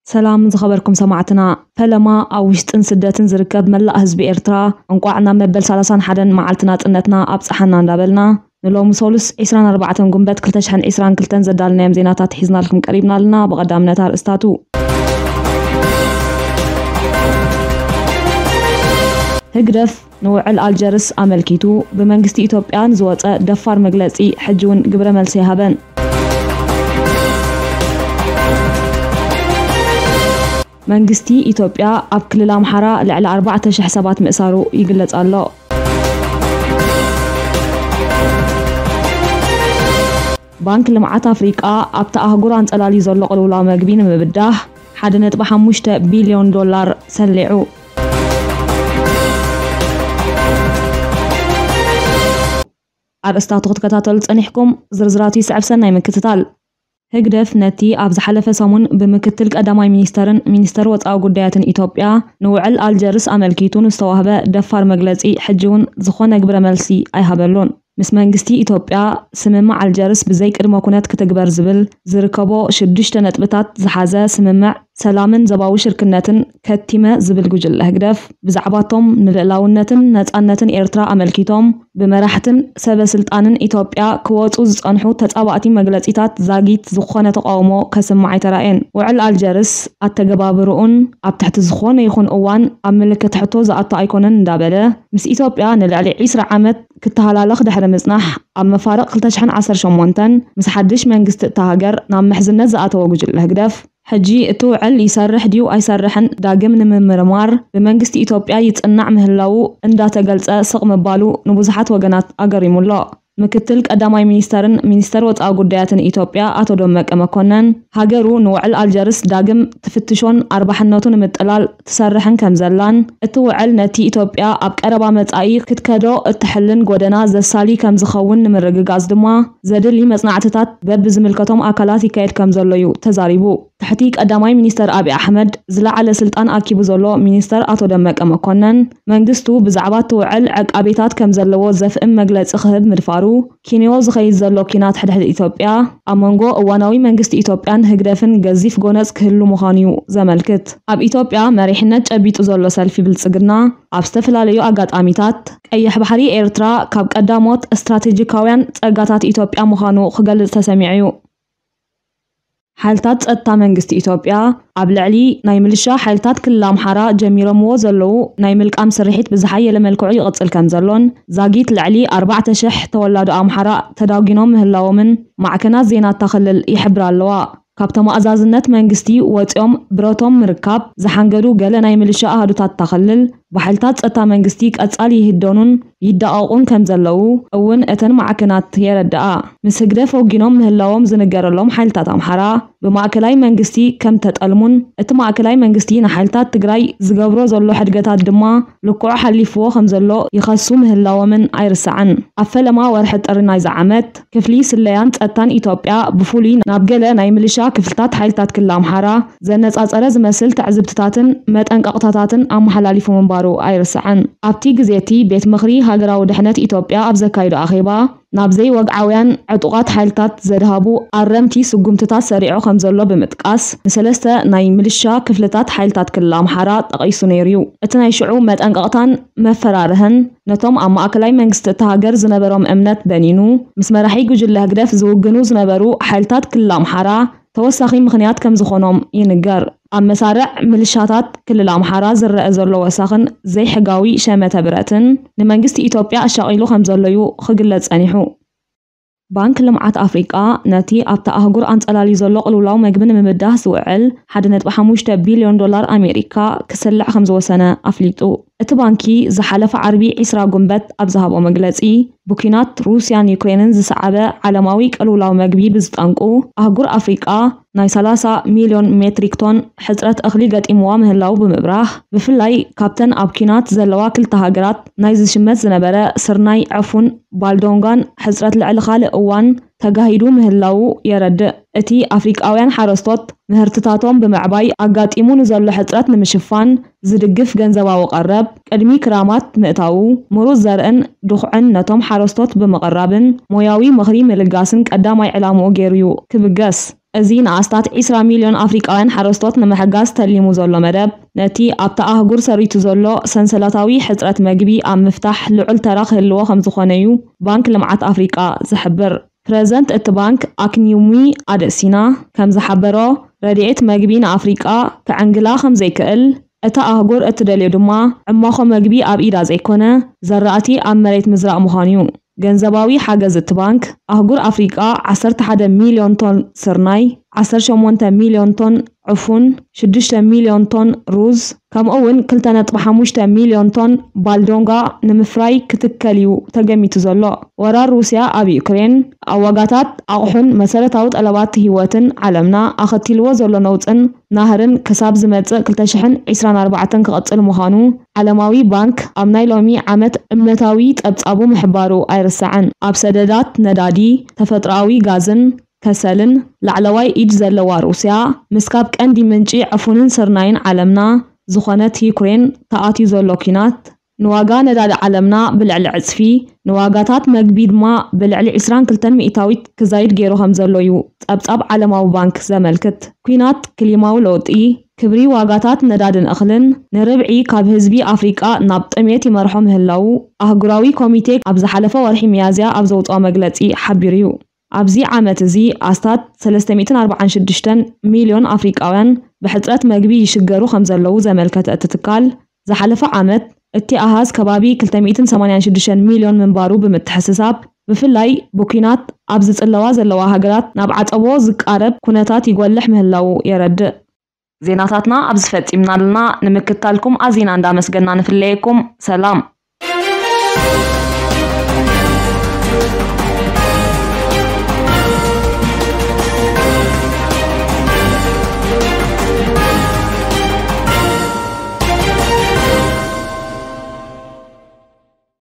ሰላም ዝኸበርኩም ሰማዕትና፣ ፈለማ ኣብ ውሽጥን ስደትን ዝርከብ መላእ ህዝቢ ኤርትራ፣ እንቋዕ ናብ መበል ሰላሳን ሓደን መዓልቲ ናጽነትና ኣብጽሓና እንዳበልና፣ ንሎሚ ሶሉስ ዕስራን ኣርባዕተን ጉንበት ክልተ ሽሕን ዕስራን ክልተን ዘዳልናዮም ዜናታት ሒዝናልኩም ቀሪብና ኣለና። ብቐዳምነት ኣርእስታቱ። ህግደፍ ንውዕል ኣልጀርስ ኣመልኪቱ ብመንግስቲ ኢትዮጵያ ንዝወጸ ደፋር መግለጺ ሕጂ እውን ግብረ መልሲ ኣይሃበን። መንግስቲ ኢትዮጵያ ኣብ ክልል ኣምሓራ ልዕሊ ኣርባዕተ ሽሕ ሰባት ምእሳሩ ይግለጽ ኣሎ። ባንክ ልምዓት ኣፍሪቃ ኣብታ ኣህጉር ኣንጸላልዩ ዘሎ ቅልውላው መግቢ ንምብዳህ ሓደ ነጥቢ ሓሙሽተ ቢልዮን ዶላር ሰሊዑ። ኣርእስታቱ ክትከታተሉ ጸኒሕኩም፣ ዝርዝራቱ ይስዕብ። ሰናይ ምክትታል። ህግደፍ ነቲ ኣብ ዝሓለፈ ሰሙን ብምክትል ቀዳማይ ሚኒስተርን ሚኒስተር ወጻኢ ጉዳያትን ኢትዮጵያ ንውዕል ኣልጀርስ ኣመልኪቱ ንዝተዋህበ ደፋር መግለጺ ሕጂ እውን ዝኾነ ግብረ መልሲ ኣይሃበሉን። ምስ መንግስቲ ኢትዮጵያ ስምምዕ ኣልጀርስ ብዘይ ቅድመ ኩነት ክትግበር ዝብል ዝርከቦ ሽዱሽተ ነጥብታት ዝሓዘ ስምምዕ ሰላምን ዞባዊ ሽርክነትን ከቲመ ዝብል ጉጅለ ህግደፍ፣ ብዛዕባቶም ንልእላውነትን ነጻነትን ኤርትራ ኣመልኪቶም ብመራሕትን ሰበ ስልጣንን ኢትዮጵያ ክወጹ ዝጸንሑ ተጻባእቲ መግለጺታት ዛጊት ዝኾነ ተቃውሞ ከስምዕ ኣይተራእየን። ውዕል ኣልጀርስ ኣተገባብርኡን ኣብ ትሕቲ ዝኾነ ይኹን እዋን ኣብ ምልክት ሕቶ ዝኣቱ ኣይኮነን እንዳበለ፣ ምስ ኢትዮጵያ ንልዕሊ ዕስራ ዓመት ክተሃላለኽ ድሕሪ ምጽናሕ፣ ኣብ መፋርቕ ክልተ ሽሕን ዓሰርተ ሸሞንተን ምስ ሓድሽ መንግስቲ እታ ሃገር ናብ ምሕዝነት ዝኣተወ ጉጅለ ህግደፍ፣ ሕጂ እቲ ውዕል ይሰርሕ ድዩ ኣይሰርሕን ዳግም ንምምርማር ብመንግስቲ ኢትዮጵያ ይጽናዕ ምህላዉ እንዳተገልጸ ስቕ ምባሉ ንብዙሓት ወገናት ኣገሪሙ ኣሎ። ምክትል ቀዳማይ ሚኒስተርን ሚኒስተር ወጻኢ ጉዳያትን ኢትዮጵያ ኣቶ ደመቀ መኮነን፣ ሃገሩ ንውዕል ኣልጀርስ ዳግም ትፍትሾን ኣርባሕነቱ ንምጥላል ትሰርሕን ከም ዘላን፣ እቲ ውዕል ነቲ ኢትዮጵያ ኣብ ቀረባ መጻኢ ክትከዶ እትሕልን ጎደና ዘሳሊ ከም ዝኸውን ንምርግጋጽ ድማ ዘድሊ መጽናዕትታት በብዝምልከቶም ኣካላት ይካየድ ከም ዘሎ እዩ ተዛሪቡ። ትሕቲ ቀዳማይ ሚኒስተር ኣብይ ኣሕመድ ዝለዓለ ስልጣን ኣኪቡ ዘሎ ሚኒስተር ኣቶ ደመቀ መኮነን፣ መንግስቱ ብዛዕባ እቲ ውዕል ዕቃቤታት ከም ዘለዎ ዘፍእም መግለጺ ክህብ ምድፋሩ፣ ኪንዮ ዝኸይድ ዘሎ ኲናት ሕድሕድ ኢትዮጵያ፣ ኣብ መንጎ እዋናዊ መንግስቲ ኢትዮጵያን ህግደፍን ገዚፍ ጎነጽ ክህሉ ምዃኑ እዩ ዘመልክት። ኣብ ኢትዮጵያ መሪሕነት ጨቢጡ ዘሎ ሰልፊ ብልጽግና፣ ኣብ ዝተፈላለዩ ኣጋጣሚታት፣ ቀይሕ ባሕሪ ኤርትራ ካብ ቀዳሞት ስትራቴጂካውያን ጸጋታት ኢትዮጵያ ምዃኑ ክገልጽ ተሰሚዑ እዩ። ሓይልታት ጸጥታ መንግስቲ ኢትዮጵያ ኣብ ልዕሊ ናይ ምልሻ ሓይልታት ክልል ኣምሓራ ጀሚሮምዎ ዘለዉ ናይ ምልቃም ስርሒት ብዝሓየለ መልክዑ ይቕጽል ከም ዘሎን፣ ዛጊት ልዕሊ ኣርባዕተ ሽሕ ተወላዶ ኣምሓራ ተዳጒኖም ምህላዎምን ማዕከናት ዜና እታ ክልል ይሕብራ ኣለዋ። ካብ ተማእዛዝነት መንግስቲ ወጺኦም ብረቶም ምርካብ ዝሓንገዱ ገለ ናይ ምልሻ ኣሃዱታት እታ ክልል፣ ብሓይልታት ጸጥታ መንግስቲ ቀጻሊ ይህደኑን ይዳቐቑን ከም ዘለዉ እውን እተን ማዕከናት የረድኣ። ምስ ህግደፍ ወጊኖም ምህላዎም ዝንገረሎም ሓይልታት ኣምሓራ ብማእከላይ መንግስቲ ከም ተጠልሙን፣ እቲ ማእከላይ መንግስቲ ንሓይልታት ትግራይ ዝገብሮ ዘሎ ሕድገታት ድማ ልክዑ ሓሊፍዎ ከም ዘሎ ይኸሱ ምህላዎምን ኣይርሳዕን። ኣብ ፈለማ ወርሒ ጥሪ ናይዚ ዓመት፣ ክፍሊ ስለያን ጸጥታን ኢትዮጵያ ብፍሉይ ናብ ገለ ናይ ምልሻ ክፍልታት ሓይልታት ክልል ኣምሓራ ዘነጻጸረ ዝመስል ትዕዝብትታትን መጠንቀቕታታትን ኣመሓላሊፉ ምንባሩ ኣይርሳዕን። ኣብቲ ግዜ እቲ ቤት ምኽሪ ሃገራዊ ድሕነት ኢትዮጵያ ኣብ ዘካይዶ ኣኼባ፣ ናብ ዘይወግዓውያን ዕጡቓት ሓይልታት ዘድሃቡ ኣረምቲ ስጉምትታት ሰሪዑ ከም ዘሎ ብምጥቃስ፣ ንሰለስተ ናይ ምልሻ ክፍልታት ሓይልታት ክልል ኣምሓራ ጠቒሱ ነይሩ እዩ። እቲ ናይ ሽዑ መጠንቀቕታን መፈራርህን፣ ነቶም ኣብ ማእከላይ መንግስቲ እታ ሃገር ዝነበሮም እምነት በኒኑ፣ ምስ መራሒ ጉጅለ ህግደፍ ዝውግኑ ዝነበሩ ሓይልታት ክልል ኣምሓራ ተወሳኺ ምኽንያት ከም ዝኾኖም ይንገር። ኣብ መሳርዕ ምልሻታት ክልል ኣምሓራ ዝረአ ዘሎ ወሳኽን ዘይሕጋዊ ሸመተ ብረትን፣ ንመንግስቲ ኢትዮጵያ ኣሻቒሉ ከም ዘሎ እዩ ክግለጽ ጸኒሑ። ባንክ ልምዓት ኣፍሪቃ ነቲ ኣብታ ኣህጉር ኣንጸላልዩ ዘሎ ቅልውላው መግቢ ንምብዳህ ዝውዕል ሓደ ነጥቢ ሓሙሽተ ቢልዮን ዶላር ኣሜሪካ ክስልዕ ከም ዝወሰነ ኣፍሊጡ። እቲ ባንኪ ዝሓለፈ ዓርቢ ዕስራ ጉንበት ኣብ ዝሃቦ መግለጺ፣ ብኲናት ሩስያን ዩክሬንን ዝሰዓበ ዓለማዊ ቅልውላው መግቢ ብዝጠንቁ፣ ኣህጉር ኣፍሪቃ ናይ ሰላሳ ሚልዮን ሜትሪክ ቶን ሕጽረት እኽሊ ገጢምዋ ምህላው ብምብራህ፣ ብፍላይ ካብተን ኣብ ኲናት ዘለዋ ክልተ ሃገራት ናይ ዝሽመት ዝነበረ ስርናይ፣ ዕፉን፣ ባልዶንጋን ሕጽረት ልዕሊ ካልእ እዋን ተጋሂዱ ምህላዉ የረድእ። እቲ ኣፍሪቃውያን ሓረስቶት ምህርትታቶም ብምዕባይ ኣጋጢሙ ንዘሎ ሕጽረት ንምሽፋን ዝድግፍ ገንዘባዊ ቀረብ፣ ቅድሚ ክራማት ምእታዉ፣ ምሩጽ ዘርእን ድኹዕን ነቶም ሓረስቶት ብምቕራብን ሞያዊ ምኽሪ ምልጋስን ቀዳማይ ዕላምኡ ገይሩ እዩ ክብገስ። እዚ ንኣስታት ዕስራ ሚልዮን ኣፍሪቃውያን ሓረስቶት ንምሕጋዝ ተሊሙ ዘሎ መደብ፣ ነቲ ኣብታ ኣህጉር ሰሪቱ ዘሎ ሰንሰለታዊ ሕጽረት መግቢ ኣብ ምፍታሕ ልዑል ተራ ክህልዎ ከም ዝኾነ እዩ ባንክ ልምዓት ኣፍሪቃ ዝሕብር። ፕረዚደንት እቲ ባንክ ኣክኒዩሚ ኣደሲና ከም ዝሓበሮ፣ ረድኤት መግቢ ንኣፍሪቃ ክዕንግላ ከም ዘይክእል፣ እታ ኣህጉር እትደልዮ ድማ ዕማኾ መግቢ ኣብ ኢዳ ዘይኮነ፣ ዘራእቲ ኣብ መሬት ምዝራእ ምዃኑ እዩ። ገንዘባዊ ሓገዝ እቲ ባንክ፣ ኣህጉር ኣፍሪቃ ዓሰርተ ሓደ ሚልዮን ቶን ስርናይ፣ ዓሰርተ ሸሞንተ ሚልዮን ቶን ዕፉን፣ ሽዱሽተ ሚልዮን ቶን ሩዝ፣ ከምኡ እውን ክልተ ነጥቢ ሓሙሽተ ሚልዮን ቶን ባልዶንጋ ንምፍራይ ክትከል እዩ ተገሚቱ ዘሎ። ወራር ሩስያ ኣብ ዩክሬን፣ ኣብ ዋጋታት ኣቑሑን መሰረታዊ ጠለባት ህይወትን ዓለምና ኣኸቲልዎ ዘሎ ነውጽን ናህርን ክሳብ ዝመጽእ ክልተ ሽሕን ዕስራን ኣርባዕተን ክቕጽል ምዃኑ ዓለማዊ ባንክ ኣብ ናይ ሎሚ ዓመት እምነታዊ ጸብጻቡ ምሕባሩ ኣይርሳዕን። ኣብ ሰደዳት ነዳዲ፣ ተፈጥሮኣዊ ጋዝን ከሰልን ላዕለዋይ ኢድ ዘለዋ ሩስያ፣ ምስ ካብ ቀንዲ ምንጪ ዕፉንን ስርናይን ዓለምና ዝኾነት ዩክሬን ተኣትዩ ዘሎ ኲናት፣ ንዋጋ ነዳዲ ዓለምና ብልዕሊ ዕጽፊ፣ ንዋጋታት መግቢ ድማ ብልዕሊ ዕስራን ክልተን ሚእታዊት ክዛይድ ገይሩ ከም ዘሎ እዩ ጸብጻብ ዓለማዊ ባንክ ዘመልክት። ኲናት፣ ክሊማዊ ለውጢ፣ ክብሪ ዋጋታት ነዳድን እኽልን ንርብዒ ካብ ህዝቢ ኣፍሪቃ ናብ ጥሜት ይመርሖ ምህላዉ ኣህጉራዊ ኮሚቴ ኣብ ዝሓለፈ ወርሒ ሚያዝያ ኣብ ዘውጽኦ መግለጺ ሓቢሩ እዩ። ኣብዚ ዓመት እዚ ኣስታት ሰለስተ ሚእትን ኣርባዓን ሽዱሽተን ሚልዮን ኣፍሪቃውያን ብሕጽረት መግቢ ይሽገሩ ከም ዘለዉ ዘመልከተ እቲ ትካል፣ ዝሓለፈ ዓመት እቲ ኣሃዝ ከባቢ ክልተ ሚእትን ሰማንያን ሽዱሽተን ሚልዮን ምንባሩ ብምትሕስሳብ፣ ብፍላይ ብኲናት ኣብ ዝጽለዋ ዘለዋ ሃገራት ናብ ዓጸቦ ዝቃረብ ኩነታት ይጎልሕ ምህላዉ የረድእ። ዜናታትና ኣብዚ ፈጺምና ኣለና። ንምክትታልኩም ኣዚና እንዳመስገና ንፍለየኩም። ሰላም።